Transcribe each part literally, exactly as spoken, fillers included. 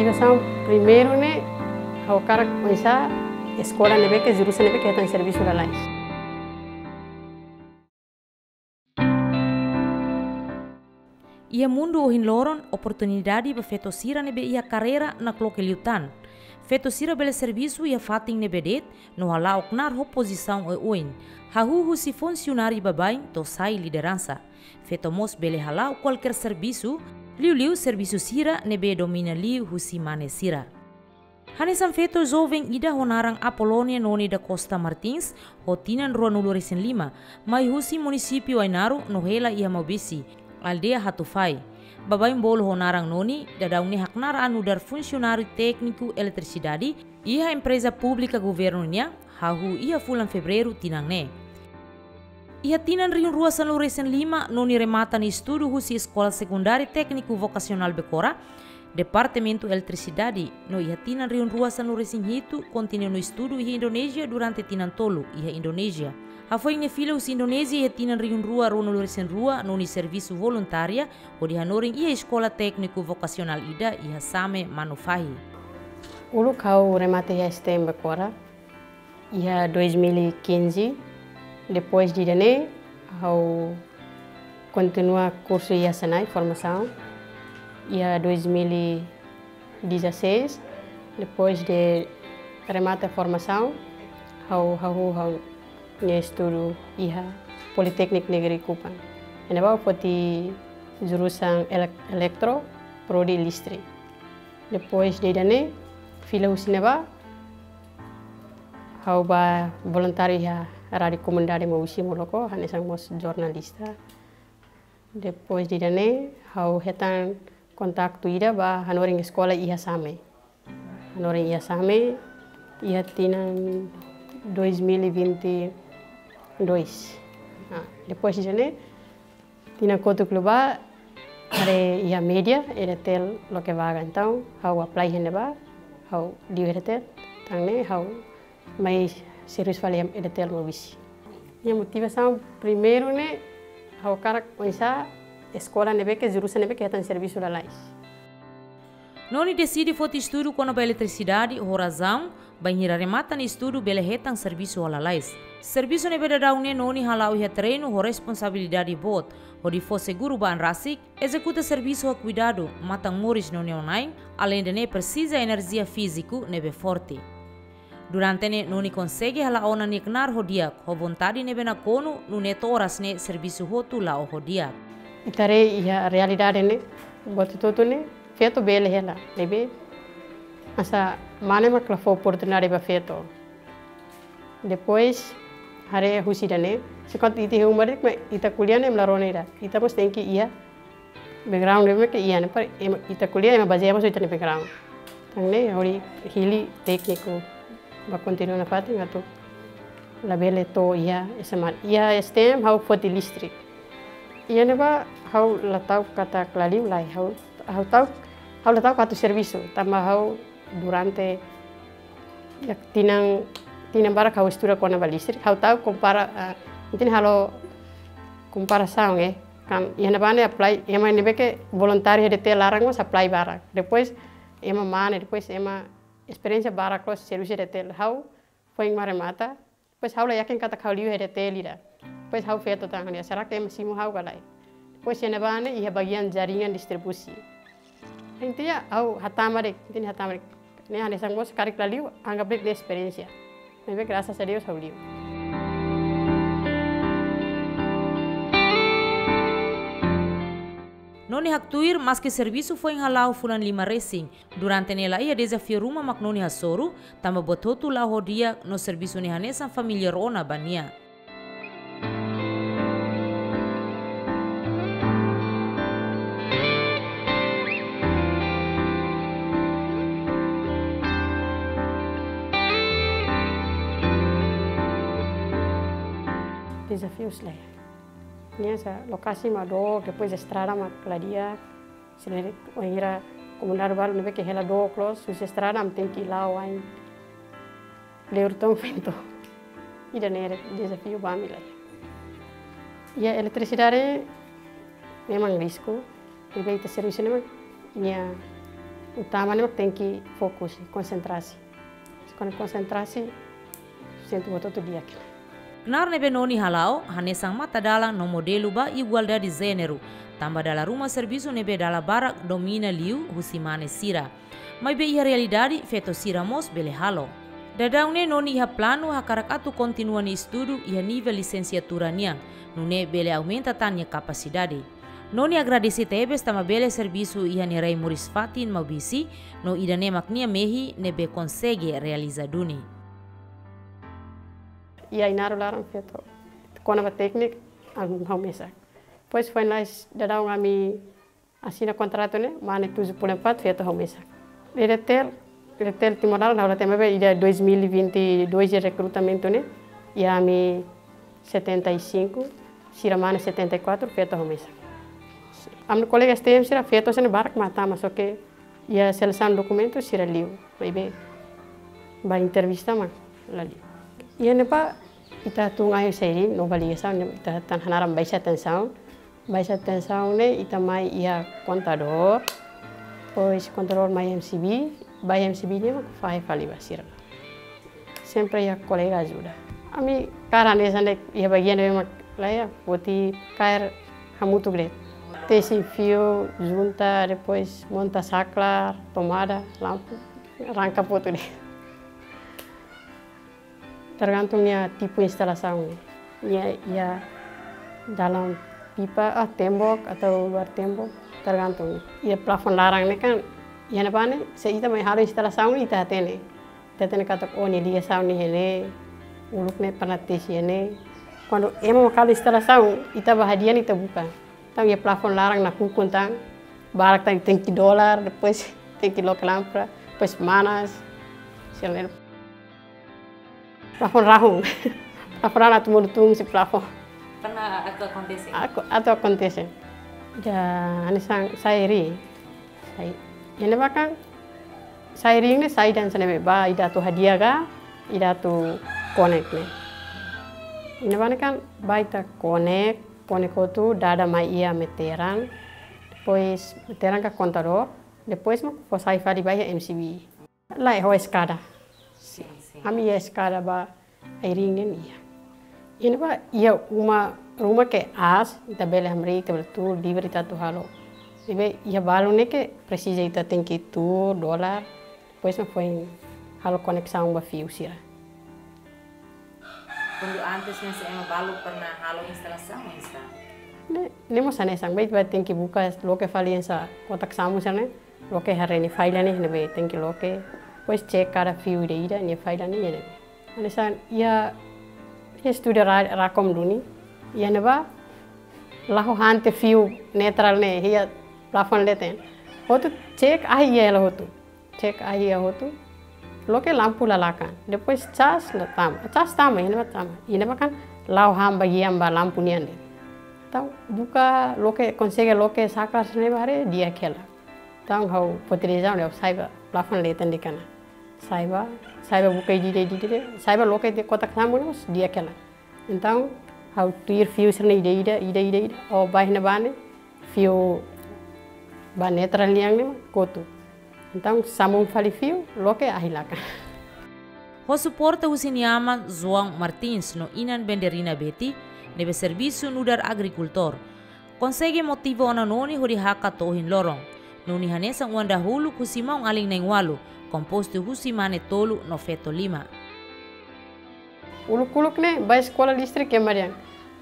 Motivasaun primeiru ne'e, ha'u hakarak oinsá eskola ne'ebé ke jurusan ne'ebé ke hetan servisu lalais. Iha mundu ohin loron, oportunidade ba feto sira ne'ebé iha karreira nakloke liután. Feto sira bele servisu iha fatin ne'ebé de'it, no hala'o knaar ho pozisaun oioin. Hahú husi funsionáriu baibain to'o sai lideransa. Feto mós bele hala'o kualkér servisu, liuliu servisu sira ne'ebé domina liu husi mane sira. Hanesan feto joven ida ho naran Apolónia Noni da Costa Martins, ho tinan ruanulu-resin-lima, mai husi munisípiu Ainaro no hela iha Maubisse, aldeia Hatufai. Baibain bolu ho naran Noni, daudaun ne'e haknaar nu'udar funsionáriu tékniku eletrisidade iha empreza públika governu nian, hahú iha fulan Fevereiru tinan ne'e. Iha tinan rihun rua sanulu-resin-lima, Noni remata nia estudu husi Eskola Sekundária Tékniku Vokasionál Becora, Departamentu Eletrisidade, no iha tinan rihun rua sanulu-resin-hitu, kontinua nia estudu iha Indonézia durante tinan tolu iha Indonézia. Hafoin nia fila husi Indonézia iha tinan rihun rua ruanulu-resin-rua, Noni servisu voluntária hodi hanorin iha eskola tékniku vokasionál ida iha Same, Manufahi. Uluk ha'u remata iha S T M Becora iha dois mil e quinze. Depois de ida-ne'e, ha'u kontinua kursu iha Senai, formasaun, iha dois mil e dezasseis. Depois de remata formasaun, ha'u hahú ha'u-nia estudu iha Politeknik Negeri Kupang. Iha ne'ebá ha'u foti jurusan elek-, elektro, prodi listrik. Depois de ida-ne'e, fila husi ne'ebá, ha'u bá voluntáriu iha Rádiu Komunidade Maubisse Moloko, hanesan mós jornalista. Depois de ida-ne'e, ha'u hetan kontaktu ida ba hanorin eskola iha Same. Hanorin iha Same, iha tinan dois mil e vinte e dois. Ah, depois de ida-ne'e, tinan kotuk liubá, haree iha média, EDTL loke vaga. Entaun, ha'u apply iha ne'ebá, ha'u liu EDTL, tan ne'e ha'u mai servisu fali iha EDTL Maubisse. Nia motivasaun primeiru ne'e, ha'u hakarak oinsá eskola ne'ebé ke jurusan ne'ebé ke hetan servisu lalais. Noni deside foti estudu kona-ba eletrisidade ho razaun, bainhira remata nia estudu bele hetan servisu ho lalais. Servisu ne'ebé daudaun ne'e Noni hala'o iha terrenu ho responsabilidade boot, hodi fó seguru ba an rasik, ezekuta servisu ho kuidadu, matan moris no neon-na'in, aleinde ne'e presiza enerjia fíziku ne'ebé forte. Durante ne'e Noni konsege hala'o ona nia knaar ho di'ak, ho vontade ne'ebé nakonu, nune'e to'o oras ne'e servisu hotu la'o ho di'ak. Ita haree iha realidade ne'e, buat hotu-hotu ne'e, feto bele hela, ne'ebé hanesan mane mak la fó oportunidade ba feto. Depois, haree husi ida-ne'e, se kuandu ita iha uma de'it, ita ko'alia ne'e ema la rona ida, ita mós tenke iha background ida ke iha ne'e, para ema, ita ko'alia ema bazeia mós ita-nia background. Tan ne'e hodi hili tékniku ba kontinua nafatin atu labele to'o iha S M A, iha S T M ha'u foti listrik. Iha ne'ebá ha'u la ta'uk katak la liu, lae, ha'u, ha'u ta'uk, ha'u la ta'uk atu servisu, tanba ha'u durante, ya, tinan, tinan barak ha'u estuda kona-ba listrik, ha'u ta'uk kompara, ah, entaun halo komparasaun, eh, kan, iha ne'ebá ne'e apply, ema ne'ebé ke voluntáriu iha EDTL laran mós apply barak. Depois ema mane, depois ema esperiénsia barak loos servisu iha EDTL. Ha'u foin mak remata, depois ha'u la yakin katak ha'u liu iha EDTL ida. Depois ha'u feto tan, será ke ema simu ha'u ka lae? Depois iha ne'ebá ne'e iha bagian jaringan distribusi. Entaun ha'u hatama de'it, entaun hatama de'it. Ne'e hanesan mós karik la liu, anggap de'it ne'e esperiénsia. Maibé grasas a Deus ha'u liu. Noni haktuir, maski servisu foin hala'o fulan lima resin, durante ne'e la iha dezafiu ruma mak Noni hasoru, tanba buat hotu la'o ho di'ak no servisu ne'e hanesan família rona ba nia. Dezafius lae. Nia hanesan lokasi mak dook, depois estrada mak la di'ak. Sira-ne'e wainhira komunidade balu ne'ebé ke hela dook loos, husi estrada ami tenke la'o ain. Leur to'o fento. Ida-ne'e dezafiu ba ami lae. Iha eletrisidade memang risku. Ne'ebé ita servisu ne'e memang nia Utama ne'e mak tenke fokus, konsentrasi. Kuandu konsentrasi, sente buat hotu di'ak. Knaar ne'ebé Noni hala'o hanesan matadalan no modelu ba igualdade jéneru, tanba dala ruma servisu ne'ebé dala barak domina liu husi mane sira. Maibé iha realidade, feto sira mós bele halo. Daudaun ne'e Noni iha planu hakarak atu kontinua nia estudu iha nivel lisensiatura nian, nune'e bele aumenta tan nia kapasidade. Noni agradese tebes tanba bele servisu iha nia rai moris fatin Maubisse, no ida-ne'e mak nia mehi ne'ebé konsege realiza duni. Iha Ainaro laran feto, kona-ba tékniku, ha'u, ha'u mesak. Depois foin lalais daudaun ami asina kontratu ne'e, mane tujuh puluh empat feto ha'u mesak. Iha Retel, Retel Timor laran, ha'u la hatene maibé iha dois mil e vinte e dois iha rekrutamentu ne'e, iha ami setenta e cinco, sira mane setenta e quatro, feto ha'u mesak. Ami-nia kolega S T M sira feto sira-ne'e barak mak tama, só ke iha selesaun dokumentu sira liu, maibé ba entrevista mak la liu. Iha ne'ebá ita tun ai sairi no ba ligasaun ne'e ita tan hanaran baixa tensaun. Baixa tensaun ne'e ita mai iha kontadór, depois kontadór mai M C B, ba M C B ne'e mak fahe fali ba sira. Sempre iha kolega ajuda. Ami kaer hanesan de'it iha bagian ne'ebé mak laiha, foti kaer hamutuk de'it. Tesi fiu, junta, depois monta saklar, tomada, lampu, rangkap hotu de'it. Tergantung nia tipu instalasaun. Nia iha dalam pipa, ah, tembok atau luar tembok, tergantung. Iha plafon laran ne'e kan, iha ne'ebá ne'e, se ita mai halo instalasaun ita hatene. Ita hatene katak, oh, nia ligasaun ne'e iha ne'e, uluk ne'e pernah tesi iha ne'e. Kuandu ema mak halo instalasaun, ita ba hadi'a ita buka. Entaun iha plafon laran nakukun tan, barak tan tenke dolar, depois tenke loke lámpada, depois manas, sira-ne'e. Plafon rahun. Plafon rahun atu monu tun husi plafon. Pernah atu akontese? Aku, atu akontese. Ida hanesan sai ring. Sai. Iha ne'ebá kan sai ring ne'e sai dan sene ba ida atu hadi'a ka, ida atu konek ne'e. Iha ne'ebá ne'e kan ba ita konek, konek hotu dada mai iha meteran. Depois meteran ka kontadór. Depois mak fó sai fali ba iha M C B. Lae, ho eskada. Sin, sin. Ami iha eskada ba ai-ring nian iha. Iha ne'ebá iha uma, ruma ke aas, ita bele hamriik, ita bele tuur, livre ita atu halo. Maibé iha balu ne'e ke presiza ita tenke tuur, dolar, depois mak foin halo koneksaun ba fiu sira. Kuandu antes ne'e se ema balu pernah halo instalasaun, oinsá? Ne'e, ne'e mós hanesan, ba ita tenke buka, loke fali hanesan kotak sambung sira-ne'e. Loke haree nia falla ne'e, ne'ebé tenke loke. Depois cek kada fiu ida-ida nia falla ne'e, ne'e. Hanesan iha, iha estúdiu Ra-, Racom duni. Iha ne'ebá la ho hante fiu neutral ne'e, iha plafon leten. Hotu cek, ahi iha hela hotu. Cek ahi iha hotu. Loke lampu la lakan. Depois cas la tama. Cas tama, iha ne'ebá tama. Iha ne'ebá kan la ho han bagian ba lampu nian de'it. Entaun buka loke, konsege loke saklar sira-ne'e ba haree di'ak hela. Entaun ha'u foti dezaun, ha'u sai ba plafon leten de'it ona. Sai ba, sai ba buka ida-ida, ida-ida, sai ba loke de'it kotak sambung ne'e mós di'ak hela. Entaun ha'u tuir fiu sira-ne'e ida-ida, ida-ida, ida. Oh, ba iha ne'ebá ne'e, fiu ba neutral nian ne'e mak kotu. Entaun sambung fali fiu, loke ahi lakan. Ho suporta husi nia aman João Martins no inan Benderina Betty, ne'ebé servisu nu'udar agrikultór, konsege motiva ona Noni hodi hakat to'o ohin loron. Noni hanesan oan dahuluk husi maun-alin na'in-ualu, kompostu husi mane tolu no feto lima. Uluk-uluk ne'e ba eskola listrik ema dehan.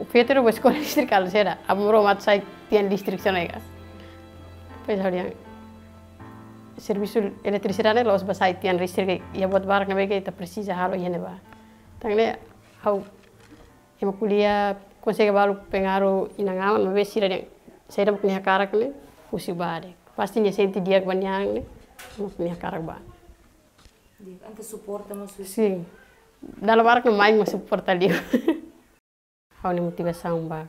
Feto ida ba eskola listrik halo saida, aban-bainrua mak atu sai tian listrik sira-ne'e ka. Depois ha'u dehan, servisu eletrisidade ne'e la'ós ba sai tian listrik, iha buat barak ne'ebé ke ita presiza halo iha ne'ebá. Entaun ne'e ha'u ema ko'alia, konsege balu pengaruh inan-aman, maibé sira dehan, saida mak nia hakarak ne'e, husu ba de'it. Pasti nia sente di'ak ba nia an ne'e, mak nia hakarak ba. Di'ak, entaun suporta mós husi. Sin. Dala barak ne'e mai mak suporta liu. Ha'u-nia motivasaun ba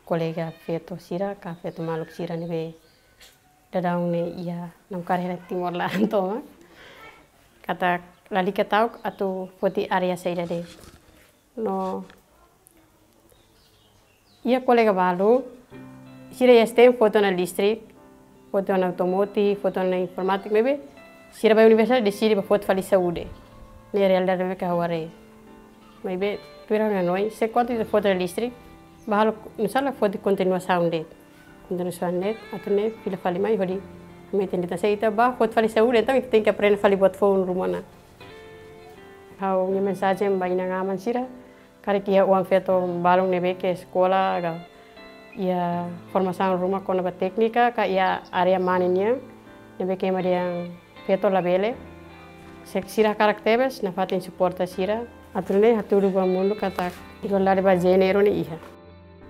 kolega feto sira, ka feto maluk sira ne'ebé daudaun ne'e iha namkari hela Timor laran tomak. Katak lalika ta'uk atu foti área saida de'it. No iha kolega balu, sira iha S T M foti ona listrik, Foti ona automotive, foti ona informátika, maibé sira ba universidade deside ba foti fali saúde. Ne'e realidade ne'ebé ke ha'u haree. Maibé tuir ha'u-nia hanoin, se kuandu ita foti listrik, ba halo, nusá la foti kontinuasaun de'it. Kontinuasaun de'it, atu nune'e fila fali mai hodi metin de'it. Se ita ba foti fali saúde, entaun ita tenke aprende fali buat foun ruma ona. Ha'u-nia mensajen ba inan-aman sira, karik iha oan-feton balun ne'ebé ke eskola ka iha formasaun ruma kona-ba téknika ka iha área mane nian, ne'ebé ke ema dehan feto labele. Se sira hakarak tebes, nafatin suporta sira. Atu nune'e hatudu ba mundu katak igualdade ba jéneru ne'e iha.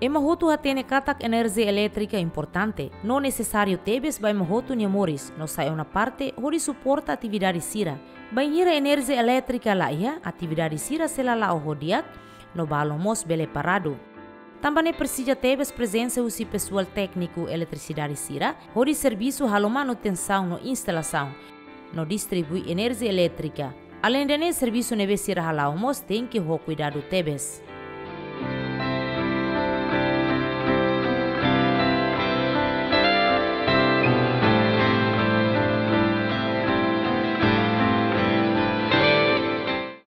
Ema hotu hatene katak enerjia elétrika importante no nesesáriu tebes ba ema hotu nia moris, no sai ona parte hodi suporta atividade sira. Bainhira enerjia elétrika la iha, atividade sira sei la la'o ho di'ak, no balun mós bele paradu. Tanba ne'e presiza tebes prezensa husi pesoál tékniku eletrisidade sira, hodi servisu halo manutensaun no instalasaun, no distribui enerjia elétrika. Aleinde ne'e, servisu ne'ebé sira hala'o mós tenke ho kuidadu tebes.